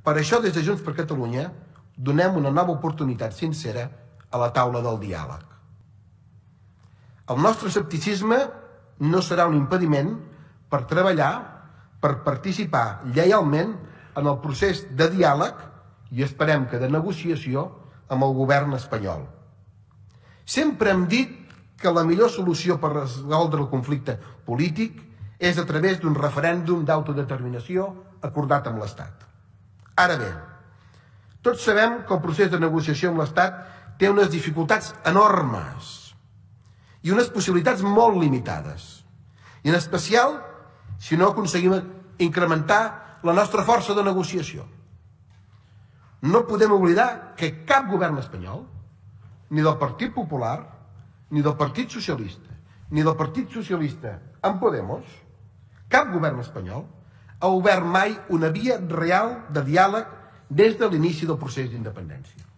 Per això, des de Junts per Catalunya, donem una nova oportunitat sincera a la taula del diàleg. El nostre escepticisme no serà un impediment per treballar, per participar lleialment en el procés de diàleg i esperem que de negociació amb el govern espanyol. Sempre hem dit que la millor solució per resoldre el conflicte polític és a través d'un referèndum d'autodeterminació acordat amb l'Estat. Ara bé, tots sabem que el procés de negociació amb l'Estat té unes dificultats enormes i unes possibilitats molt limitades. I en especial si no aconseguim incrementar la nostra força de negociació. No podem oblidar que cap govern espanyol, ni del Partit Popular, ni del Partit Socialista, ni del Partit Socialista amb Podemos, cap govern espanyol ha obert mai una via real de diàleg des de l'inici del procés d'independència.